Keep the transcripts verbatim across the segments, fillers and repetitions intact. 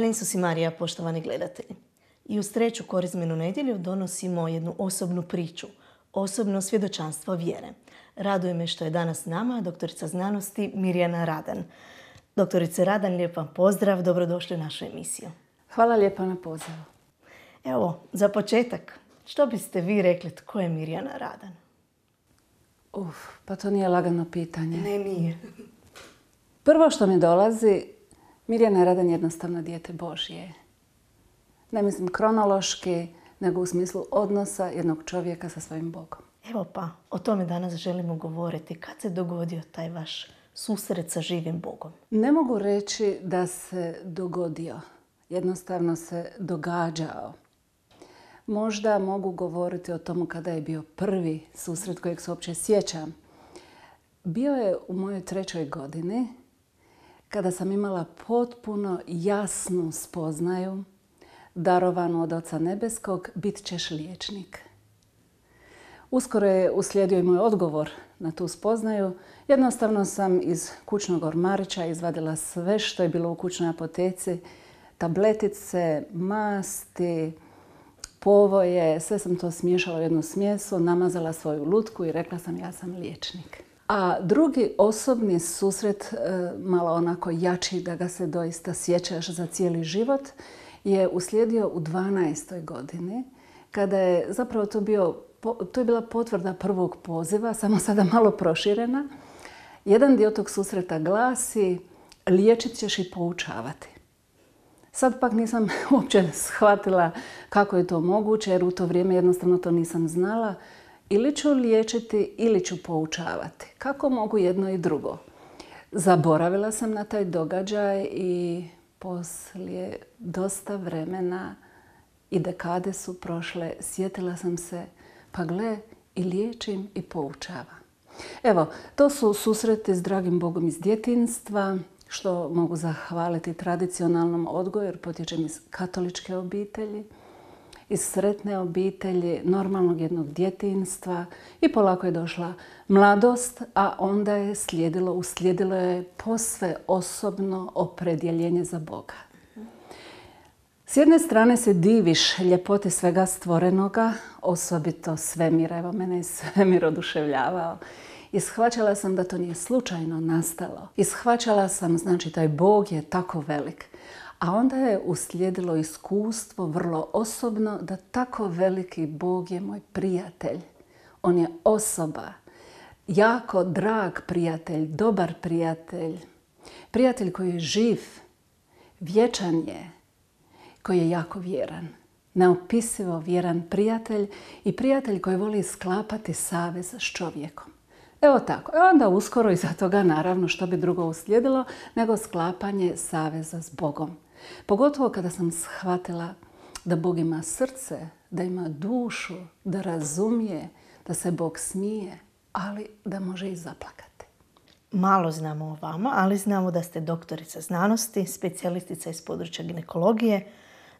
Hvala Isus i Marija, poštovani gledatelji. I uz treću korizmenu nedjelju donosimo jednu osobnu priču, osobno svjedočanstvo vjere. Raduje me što je danas s nama doktorica znanosti Mirjana Radan. Doktorice Radan, lijep vam pozdrav, dobrodošli u našu emisiju. Hvala lijepa na pozivu. Evo, za početak, što biste vi rekli tko je Mirjana Radan? Uf, pa to nije lagano pitanje. Ne, nije. Prvo što mi dolazi, Mirjana Radan je jednostavno dijete Božje. Ne mislim kronološki, nego u smislu odnosa jednog čovjeka sa svojim Bogom. Evo pa, o tome danas želimo govoriti. Kad se dogodio taj vaš susret sa živim Bogom? Ne mogu reći da se dogodio. Jednostavno se događao. Možda mogu govoriti o tomu kada je bio prvi susret kojeg se uopće sjećam. Bio je u mojoj trećoj godini kada sam imala potpuno jasnu spoznaju, darovanu od Oca Nebeskog, bit ćeš liječnik. Uskoro je uslijedio i moj odgovor na tu spoznaju. Jednostavno sam iz kućnog ormarića izvadila sve što je bilo u kućnoj apoteci, tabletice, masti, povoje, sve sam to smiješala u jednu smjesu, namazala svoju lutku i rekla sam ja sam liječnik. A drugi osobni susret, malo onako jači da ga se doista sjećaš za cijeli život, je uslijedio u dvanaestoj godini, kada je zapravo to bio, to je bila potvrda prvog poziva, samo sada malo proširena. Jedan dio tog susreta glasi: liječit ćeš i poučavati. Sad pak nisam uopće shvatila kako je to moguće, jer u to vrijeme jednostavno to nisam znala. Ili ću liječiti ili ću poučavati. Kako mogu jedno i drugo? Zaboravila sam na taj događaj i poslije dosta vremena i dekade su prošle, sjetila sam se, pa gle, i liječim i poučavam. Evo, to su susreti s dragim Bogom iz djetinjstva, što mogu zahvaliti tradicionalnom odgoju, jer potječem iz katoličke obitelji, iz sretne obitelji, normalnog jednog djetinjstva, i polako je došla mladost, a onda je slijedilo, uslijedilo je posve osobno opredjeljenje za Boga. S jedne strane se diviš ljepoti svega stvorenoga, osobito svemira. Evo, mene je svemir oduševljavao. I shvaćala sam da to nije slučajno nastalo. I shvaćala sam, znači, taj Bog je tako velik. A onda je uslijedilo iskustvo vrlo osobno da tako veliki Bog je moj prijatelj. On je osoba, jako drag prijatelj, dobar prijatelj. Prijatelj koji je živ, vječan je, koji je jako vjeran. Neopisivo vjeran prijatelj i prijatelj koji voli sklapati savez s čovjekom. Evo tako. E onda uskoro iza toga, naravno, što bi drugo uslijedilo nego sklapanje saveza s Bogom. Pogotovo kada sam shvatila da Bog ima srce, da ima dušu, da razumije, da se Bog smije, ali da može i zaplakati. Malo znamo o vama, ali znamo da ste doktorica znanosti, specijalistica iz područja ginekologije.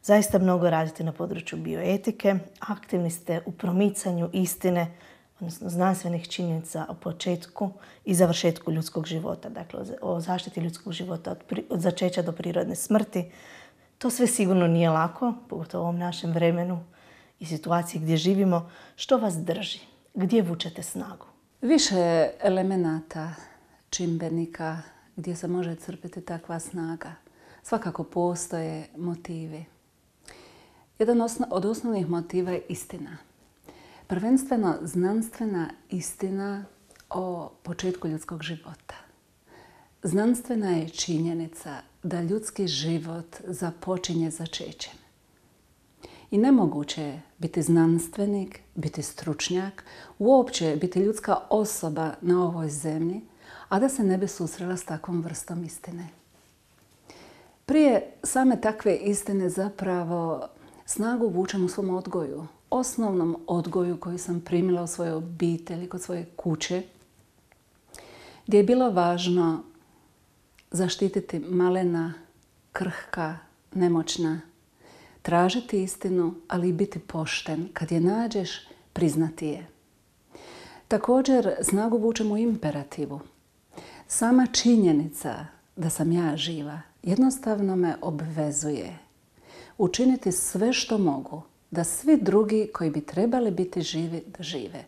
Zaista mnogo radite na području bioetike. Aktivni ste u promicanju istine, odnosno znanstvenih činjenica o početku i završetku ljudskog života. Dakle, o zaštiti ljudskog života od, pri, od začeća do prirodne smrti. To sve sigurno nije lako, pogotovo u ovom našem vremenu i situaciji gdje živimo. Što vas drži? Gdje vučete snagu? Više elemenata, čimbenika gdje se može crpiti takva snaga. Svakako postoje motivi. Jedan od osnovnih motiva je istina. Prvenstveno znanstvena istina o početku ljudskog života. Znanstvena je činjenica da ljudski život započinje začećem. I nemoguće je biti znanstvenik, biti stručnjak, uopće biti ljudska osoba na ovoj zemlji, a da se ne bi susrela s takvom vrstom istine. Prije same takve istine zapravo snagu vučem u svom odgoju. Osnovnom odgoju koji sam primila u svojoj obitelji, kod svoje kuće, gdje je bilo važno zaštititi malena, krhka, nemoćna, tražiti istinu, ali i biti pošten. Kad je nađeš, priznati je. Također, snagu vučem u imperativu. Sama činjenica da sam ja živa jednostavno me obvezuje učiniti sve što mogu da svi drugi koji bi trebali biti živi, da žive.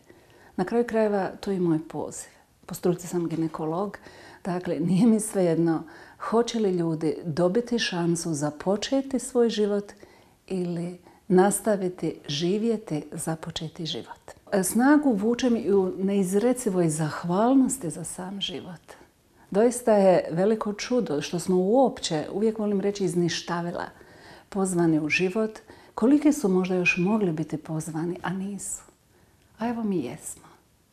Na kraju krajeva, to je i moj poziv. Po struci sam ginekolog, dakle nije mi svejedno hoće li ljudi dobiti šansu započeti svoj život ili nastaviti živjeti započeti život. Snagu vučem i u neizrecivoj zahvalnosti za sam život. Doista je veliko čudo što smo uopće, uvijek volim reći izništavila, pozvani u život. Koliki su možda još mogli biti pozvani, a nisu. A evo mi jesmo.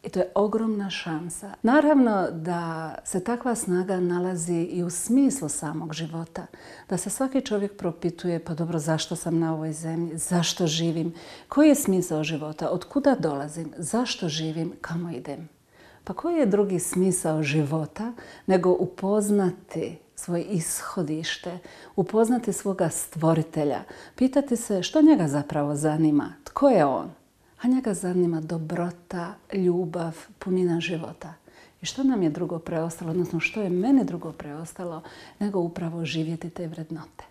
I to je ogromna šansa. Naravno da se takva snaga nalazi i u smislu samog života. Da se svaki čovjek propituje, pa dobro, zašto sam na ovoj zemlji, zašto živim, koji je smisao života, od kuda dolazim, zašto živim, kamo idem. Pa koji je drugi smisao života nego upoznati svoje ishodište, upoznati svoga stvoritelja, pitati se što njega zapravo zanima, tko je on. A njega zanima dobrota, ljubav, punina života. I što nam je drugo preostalo, odnosno što je meni drugo preostalo, nego upravo živjeti te vrednote.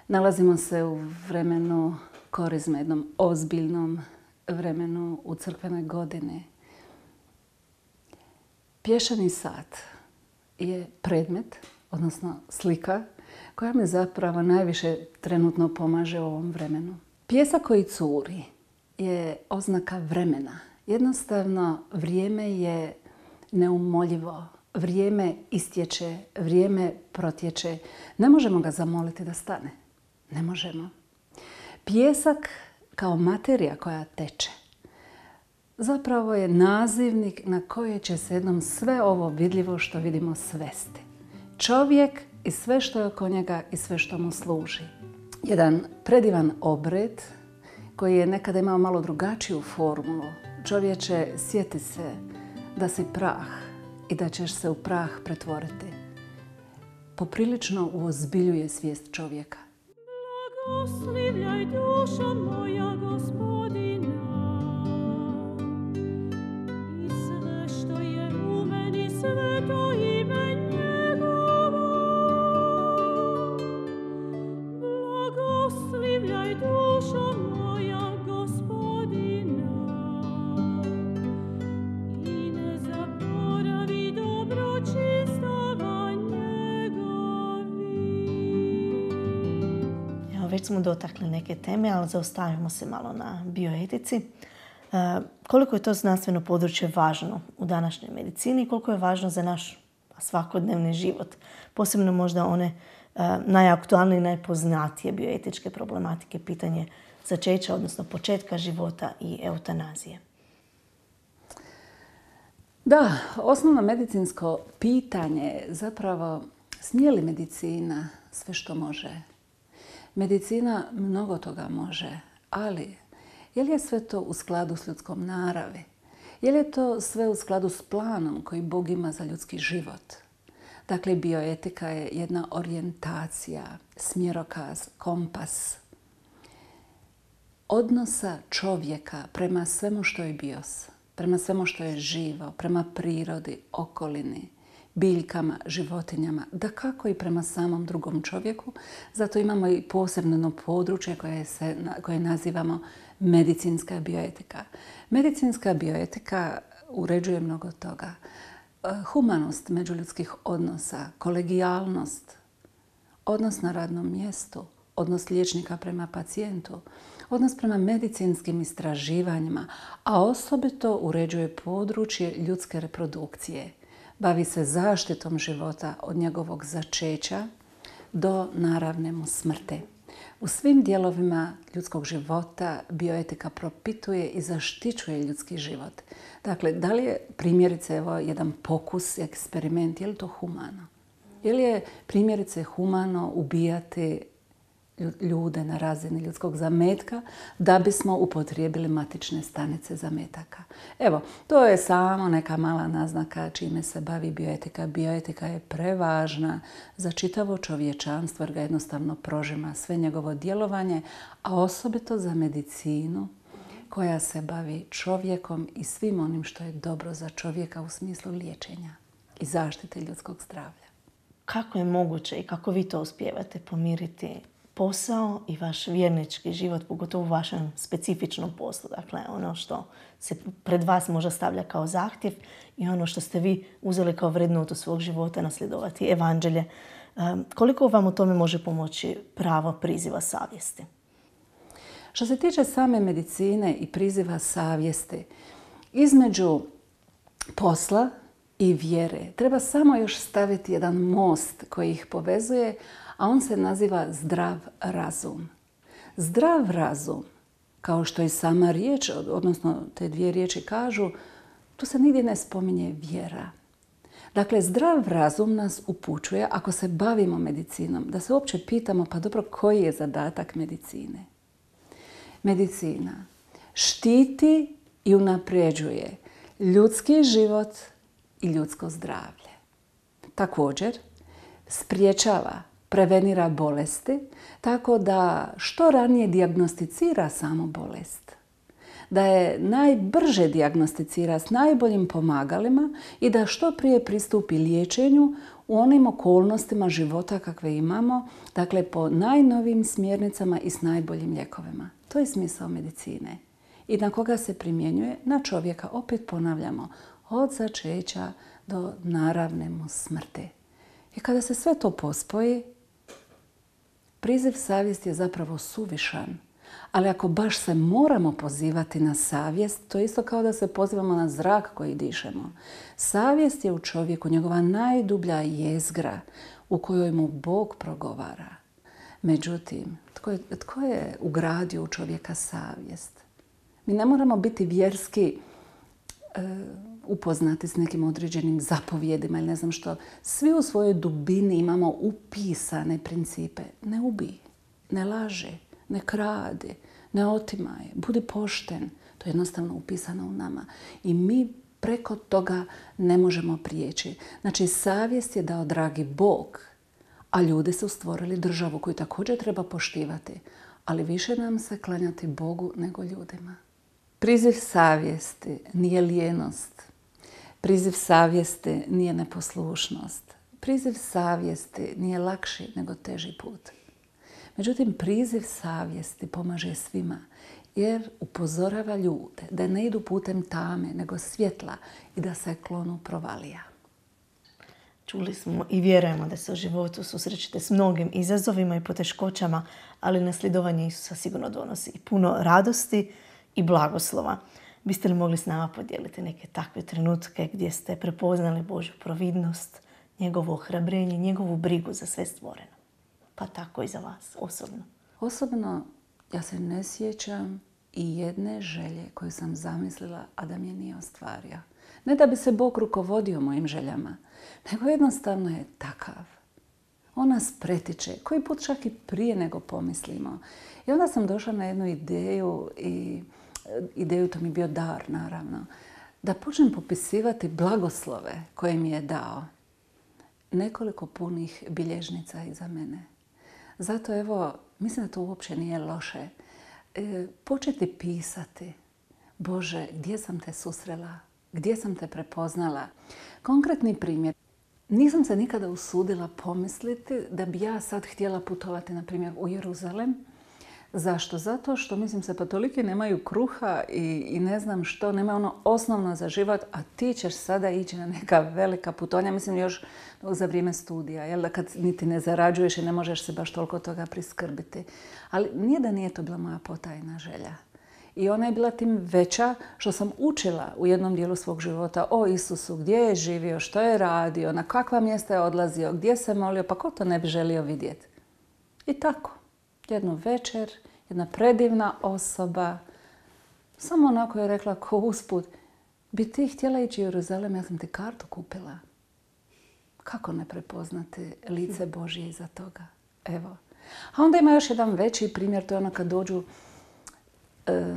Nalazimo se u vremenu korizme, jednom ozbiljnom vremenu u crkvenoj godini. Pješani sat je predmet, odnosno slika, koja mi zapravo najviše trenutno pomaže u ovom vremenu. Pjesak koji curi je oznaka vremena. Jednostavno, vrijeme je neumoljivo. Vrijeme istječe, vrijeme protječe. Ne možemo ga zamoliti da stane. Ne možemo. Pijesak kao materija koja teče zapravo je nazivnik na koje će se jednom sve ovo vidljivo što vidimo svesti. Čovjek i sve što je oko njega i sve što mu služi. Jedan predivan obred koji je nekada imao malo drugačiju formulu. Čovječe, sjeti se da si prah i da ćeš se u prah pretvoriti. Poprilično uozbiljuje svijest čovjeka. Blagoslivljaj dušo moja Gospodina i sve što je u meni, sveto ime njegovo. Blagoslivljaj dušo moja Gospodina i ne zaboravi dobročinstava njegovi. Evo, već smo dotakli neke teme, ali zaustavimo se malo na bioetici. E, koliko je to znanstveno područje važno u današnjoj medicini i koliko je važno za naš svakodnevni život. Posebno možda one e, najaktualnije i najpoznatije bioetičke problematike, pitanje začeća, odnosno početka života i eutanazije. Da, osnovno medicinsko pitanje je zapravo smije li medicina sve što može? Medicina mnogo toga može, ali je li je sve to u skladu s ljudskom naravi? Je li je to sve u skladu s planom koji Bog ima za ljudski život? Dakle, bioetika je jedna orijentacija, smjerokaz, kompas odnosa čovjeka prema svemu što je bios, prema svemu što je živo, prema prirodi, okolini, biljkama, životinjama, dakako i prema samom drugom čovjeku. Zato imamo i posebno područje koje, se, koje nazivamo medicinska bioetika. Medicinska bioetika uređuje mnogo toga. Humanost međuljudskih odnosa, kolegijalnost, odnos na radnom mjestu, odnos liječnika prema pacijentu, odnos prema medicinskim istraživanjima, a osobito uređuje područje ljudske reprodukcije. Bavi se zaštitom života od njegovog začeća do naravne mu smrti. U svim dijelovima ljudskog života bioetika propituje i zaštićuje ljudski život. Dakle, da li je primjerice evo, jedan pokus, eksperiment, je li to humano? Je li je primjerice humano ubijati ljude na razini ljudskog zametka da bismo upotrijebili matične stanice zametaka? Evo, to je samo neka mala naznaka čime se bavi bioetika. Bioetika je prevažna za čitavo čovječanstvo jer ga jednostavno prožima sve njegovo djelovanje, a osobito za medicinu koja se bavi čovjekom i svim onim što je dobro za čovjeka u smislu liječenja i zaštite ljudskog zdravlja. kako je moguće i kako vi to uspijevate pomiriti posao i vaš vjernički život, pogotovo u vašem specifičnom poslu. Dakle, ono što se pred vas možda stavlja kao zahtjev i ono što ste vi uzeli kao vrednotu svog života, nasljedovati evanđelje. Koliko vam u tome može pomoći pravo priziva savjesti? Što se tiče same medicine i priziva savjesti, između posla i vjere treba samo još staviti jedan most koji ih povezuje, a on se naziva zdrav razum. Zdrav razum, kao što i sama riječ, odnosno te dvije riječi kažu, tu se nigdje ne spominje vjera. Dakle, zdrav razum nas upućuje, ako se bavimo medicinom, da se uopće pitamo, pa dobro, koji je zadatak medicine? Medicina štiti i unapređuje ljudski život i ljudsko zdravlje. Također, spriječava, prevenira bolesti, tako da što ranije dijagnosticira samo bolest. Da je najbrže dijagnosticira s najboljim pomagalima i da što prije pristupi liječenju u onim okolnostima života kakve imamo, dakle po najnovijim smjernicama i s najboljim lijekovima. To je smisao medicine. I na koga se primjenjuje? Na čovjeka, opet ponavljamo, od začeća do naravne mu smrti. I kada se sve to pospoji, priziv savjesti je zapravo suvišan. Ali ako baš se moramo pozivati na savjest, to je isto kao da se pozivamo na zrak koji dišemo. Savjest je u čovjeku njegova najdublja jezgra u kojoj mu Bog progovara. Međutim, tko je, tko je ugradio u čovjeka savjest? Mi ne moramo biti vjerski e, upoznati s nekim određenim zapovjedima ili ne znam što. Svi u svojoj dubini imamo upisane principe. Ne ubij, ne laži, ne kradi, ne otimaj, budi pošten. To je jednostavno upisano u nama. I mi preko toga ne možemo prijeći. Znači, savjest je dao dragi Bog, a ljudi su stvorili državu koju također treba poštivati. Ali više nam se klanjati Bogu nego ljudima. Priziv savjesti nije lijenost. Priziv savjesti nije neposlušnost. Priziv savjesti nije lakši nego teži put. Međutim, priziv savjesti pomaže svima jer upozorava ljude da ne idu putem tame nego svjetla i da se klonu provalija. Čuli smo i vjerujemo da se u životu susrećete s mnogim izazovima i poteškoćama, ali nasljedovanje Isusa sigurno donosi i puno radosti i blagoslova. Biste li mogli s nama podijeliti neke takve trenutke gdje ste prepoznali Božju providnost, njegovo ohrabrenje, njegovu brigu za sve stvoreno? Pa tako i za vas osobno. Osobno ja se ne sjećam i jedne želje koju sam zamislila, a da mi je nije ostvario. Ne da bi se Bog rukovodio mojim željama, nego jednostavno je takav. On nas pretiče, koji put čak i prije nego pomislimo. I onda sam došla na jednu ideju i ideju, to mi je bio dar naravno, da počnem popisivati blagoslove koje mi je dao. Nekoliko punih bilježnica iza mene. Zato evo, mislim da to uopće nije loše. E, početi pisati. Bože, gdje sam te susrela? Gdje sam te prepoznala? Konkretni primjer. Nisam se nikada usudila pomisliti da bi ja sad htjela putovati, na primjer, u Jeruzalem. Zašto? Zato što, mislim se, pa toliki nemaju kruha i, i ne znam što, nemaju ono osnovno za život, a ti ćeš sada ići na neka velika putovanja, mislim još za vrijeme studija, jel da kad niti ne zarađuješ i ne možeš se baš toliko toga priskrbiti. Ali nije da nije to bila moja potajna želja. I ona je bila tim veća što sam učila u jednom dijelu svog života o Isusu, gdje je živio, što je radio, na kakva mjesta je odlazio, gdje se molio, pa ko to ne bi želio vidjeti. I tako. Jednu večer, jedna predivna osoba, samo onako je rekla ko usput, bi ti htjela ići u Jeruzalem, ja sam ti kartu kupila. Kako ne prepoznati lice Božje iza toga? Evo. A onda ima još jedan veći primjer, to je ono kad dođu e,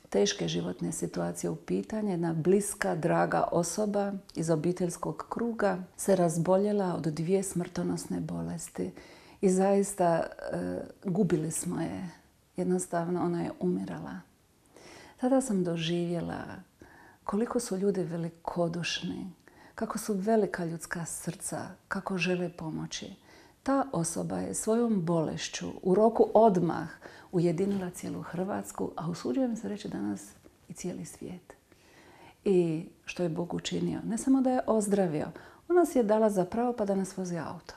teške životne situacije u pitanje. Jedna bliska, draga osoba iz obiteljskog kruga se razboljela od dvije smrtonosne bolesti. I zaista e, gubili smo je. Jednostavno ona je umirala. Tada sam doživjela koliko su ljudi velikodušni, kako su velika ljudska srca, kako žele pomoći. Ta osoba je svojom bolešću u roku odmah ujedinila cijelu Hrvatsku, a usuđujem se reći danas i cijeli svijet. I što je Bog učinio? Ne samo da je ozdravio, on nas je dala za pravo pa da nas vozi auto.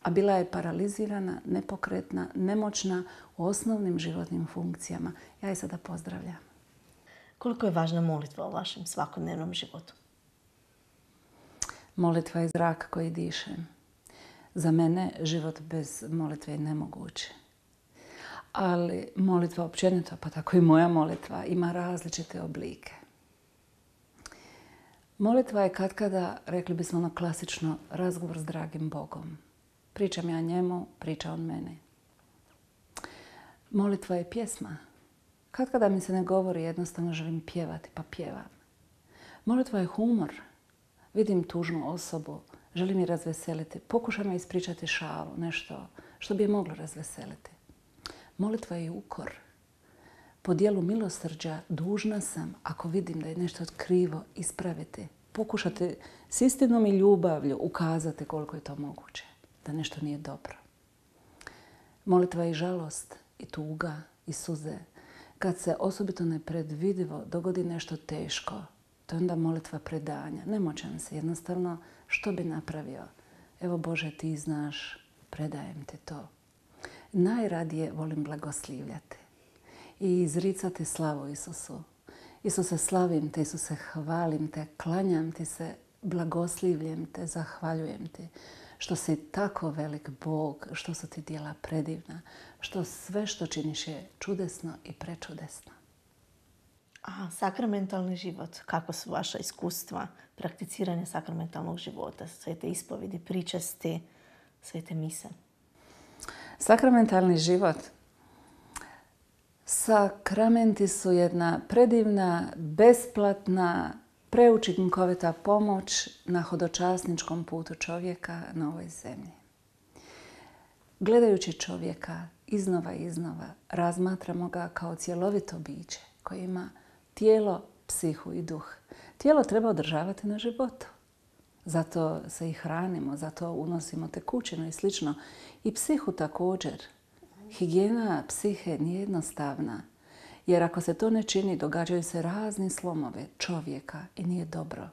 A bila je paralizirana, nepokretna, nemoćna u osnovnim životnim funkcijama. Ja je sada pozdravljam. Koliko je važna molitva u vašem svakodnevnom životu? Molitva je zrak koji dišem. Za mene život bez molitve je nemoguć. Ali molitva općenito, pa tako i moja molitva, ima različite oblike. Molitva je katkada, rekli bismo ono klasično, razgovor s dragim Bogom. Pričam ja njemu, priča on meni. Molitva je pjesma. Katkada mi se ne govori, jednostavno želim pjevati, pa pjevam. Molitva je humor. Vidim tužnu osobu, želim je razveseliti. Pokušam je ispričati šalu, nešto što bi je moglo razveseliti. Molitva je ukor. Po dijelu milosrđa dužna sam, ako vidim da je nešto krivo, ispraviti. Pokušati s istinom i ljubavlju ukazati koliko je to moguće, da nešto nije dobro. Molitva je i žalost, i tuga, i suze. Kad se osobito nepredvidivo dogodi nešto teško, to je onda molitva predanja. Nemoćan se, jednostavno, što bi napravio? Evo Bože, ti znaš, predajem ti to. Najradije volim blagoslivljati i izricati slavu Isusu. Isuse, slavim te, Isuse, hvalim te, klanjam ti se, blagoslivljem te, zahvaljujem ti. Što si tako velik Bog, što su ti djela predivna, što sve što činiš je čudesno i prečudesno. A sakramentalni život, kako su vaša iskustva prakticiranja sakramentalnog života, svete ispovedi, pričesti, svete mise? Sakramentalni život. Sakramenti su jedna predivna, besplatna, preučinkovita pomoć na hodočasničkom putu čovjeka na ovoj zemlji. Gledajući čovjeka iznova i iznova, razmatramo ga kao cjelovito biće koje ima tijelo, psihu i duh. Tijelo treba održavati na životu. Zato se i hranimo, zato unosimo tekućinu i slično. I psihu također. Higijena psihe nije jednostavna. Jer ako se to ne čini, događaju se razni slomovi čovjeka i nije dobro.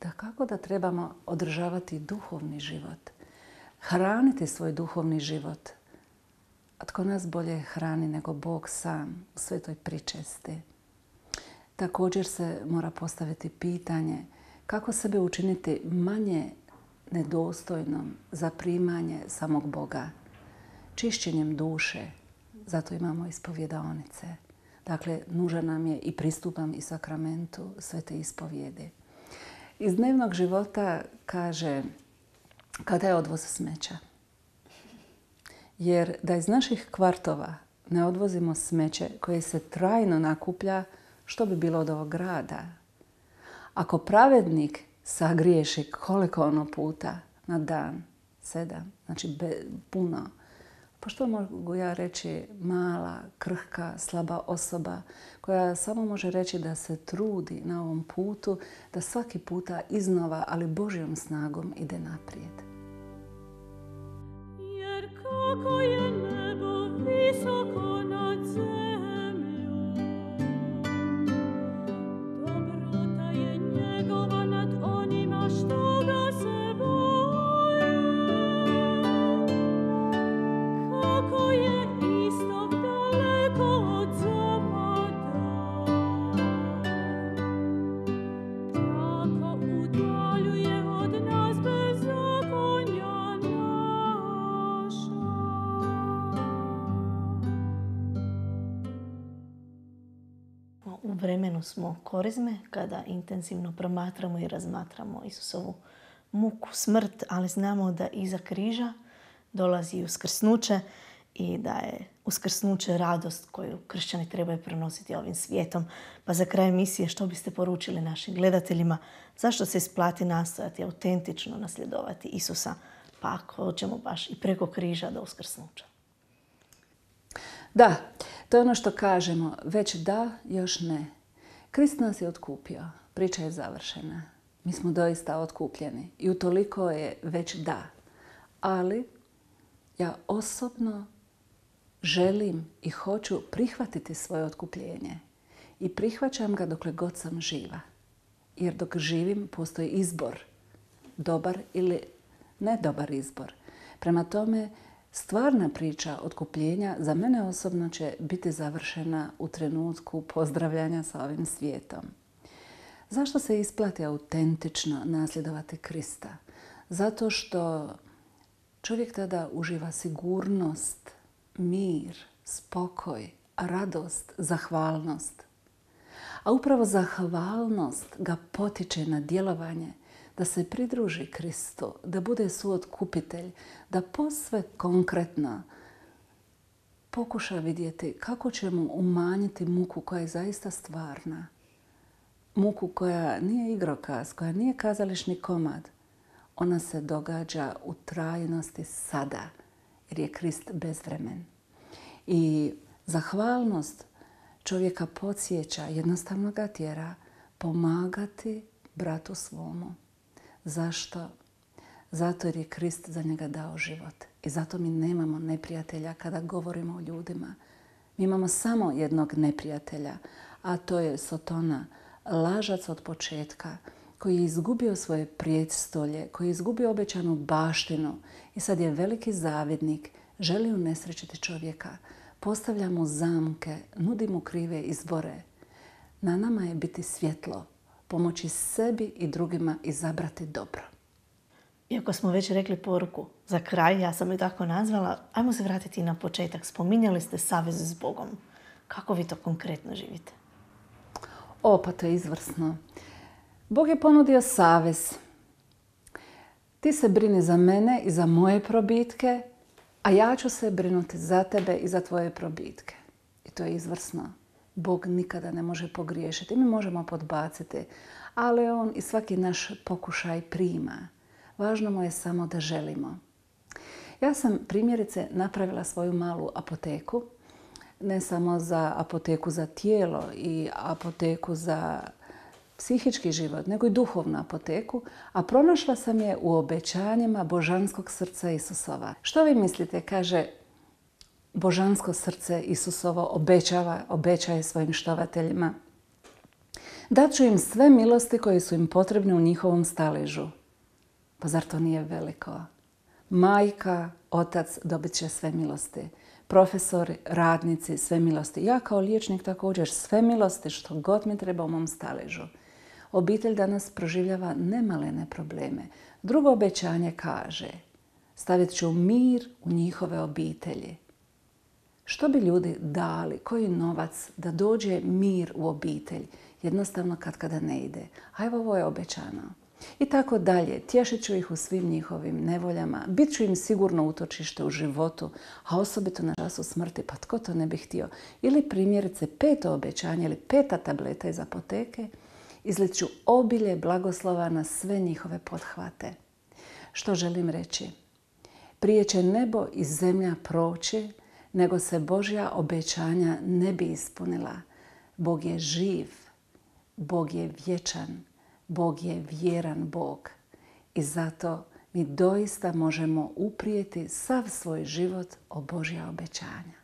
Da kako da trebamo održavati duhovni život, hraniti svoj duhovni život. A tko nas bolje hrani nego Bog sam u svetoj pričesti. Također se mora postaviti pitanje kako sebe učiniti manje nedostojnom za primanje samog Boga. Čišćenjem duše, zato imamo ispovjedaonice. Dakle, nužan nam je i pristupam i sakramentu svete ispovjedi. Iz dnevnog života kaže kada je odvoz smeća. Jer da iz naših kvartova ne odvozimo smeće koje se trajno nakuplja, što bi bilo od ovog grada? Ako pravednik sagriješi koliko ono puta na dan? Sedam. Znači be, puno. Pa što mogu ja reći mala, krhka, slaba osoba koja samo može reći da se trudi na ovom putu, da svaki puta iznova, ali Božjom snagom ide naprijed. Jer kako je nebo visoko nad zemljom, dobrota je njegova nad onima što ga se boje. Kako je istok daleko od zapada, tako udaljuje od nas bezakonja naša. U vremenu smo korizme kada intenzivno promatramo i razmatramo Isusovu muku, smrt, ali znamo da iza križa dolazi i uskrsnuće i da je uskrsnuće radost koju kršćani trebaju prenositi ovim svijetom. Pa za kraj emisije što biste poručili našim gledateljima? Zašto se isplati nastojati autentično nasljedovati Isusa? Pa ako hoćemo baš i preko križa do uskrsnuća. Da, to je ono što kažemo. Već da, još ne. Krist nas je otkupio. Priča je završena. Mi smo doista otkupljeni i utoliko je već da. Ali ja osobno želim i hoću prihvatiti svoje otkupljenje. I prihvaćam ga dokle god sam živa. Jer dok živim postoji izbor. Dobar ili ne dobar izbor. Prema tome, stvarna priča otkupljenja za mene osobno će biti završena u trenutku pozdravljanja sa ovim svijetom. Zašto se isplati autentično nasljedovati Krista? Zato što čovjek tada uživa sigurnost, mir, spokoj, radost, zahvalnost. A upravo zahvalnost ga potiče na djelovanje, da se pridruži Kristu, da bude suotkupitelj, da posve konkretno pokuša vidjeti kako će mu umanjiti muku koja je zaista stvarna. Muku koja nije igrokaz, koja nije kazališni komad. Ona se događa u trajnosti sada, jer je Krist bezvremen. I zahvalnost čovjeka podsjeća, jednostavno ga tjera pomagati bratu svomu. Zašto? Zato jer je Krist za njega dao život. I zato mi nemamo neprijatelja kada govorimo o ljudima. Mi imamo samo jednog neprijatelja, a to je Sotona, lažac od početka, koji je izgubio svoje prijestolje, koji je izgubio obećanu baštinu i sad je veliki zavidnik, želi unesrećiti čovjeka, postavlja mu zamke, nudi mu krive izbore. Na nama je biti svjetlo, pomoći sebi i drugima izabrati dobro. Iako smo već rekli poruku za kraj, ja sam ju tako nazvala, ajmo se vratiti na početak. Spominjali ste savez s Bogom. Kako vi to konkretno živite? O, pa to je izvrsno. Bog je ponudio savez. Ti se brini za mene i za moje probitke, a ja ću se brinuti za tebe i za tvoje probitke. I to je izvrsno. Bog nikada ne može pogriješiti. Mi možemo podbaciti, ali on i svaki naš pokušaj prima. Važno mu je samo da želimo. Ja sam primjerice napravila svoju malu apoteku, ne samo za apoteku za tijelo i apoteku za psihički život, nego i duhovnu apoteku, a pronašla sam je u obećanjima božanskog srca Isusova. Što vi mislite, kaže, božansko srce Isusovo obećava, obećaje svojim štovateljima? Dat ću im sve milosti koje su im potrebne u njihovom staležu. Pa zar to nije veliko? Majka, otac dobit će sve milosti. Profesori, radnici, sve milosti. Ja kao liječnik također sve milosti što god mi treba u mom staležu. Obitelj danas proživljava nemalene probleme. Drugo obećanje kaže, stavit ću mir u njihove obitelji. Što bi ljudi dali, koji novac da dođe mir u obitelj? Jednostavno kad kada ne ide. A evo ovo je obećano. I tako dalje. Tješit ću ih u svim njihovim nevoljama. Bit ću im sigurno utočište u životu, a osobito na času smrti. Pa tko to ne bi htio? Ili primjerice peto obećanje ili peta tableta iz apoteke. Izlit ću obilje blagoslova na sve njihove pothvate. Što želim reći? Prije će nebo i zemlja proći, nego se Božja obećanja ne bi ispunila. Bog je živ, Bog je vječan, Bog je vjeran Bog. I zato mi doista možemo uprijeti sav svoj život o Božja obećanja.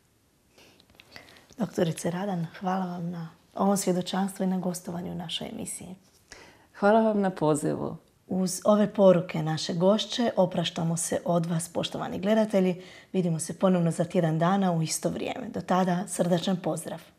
Doktorice Radan, hvala vam na ovom svjedočanstvu i na gostovanju u našoj emisiji. Hvala vam na pozivu. Uz ove poruke naše gošće opraštamo se od vas, poštovani gledatelji. Vidimo se ponovno za tjedan dana u isto vrijeme. Do tada srdačan pozdrav.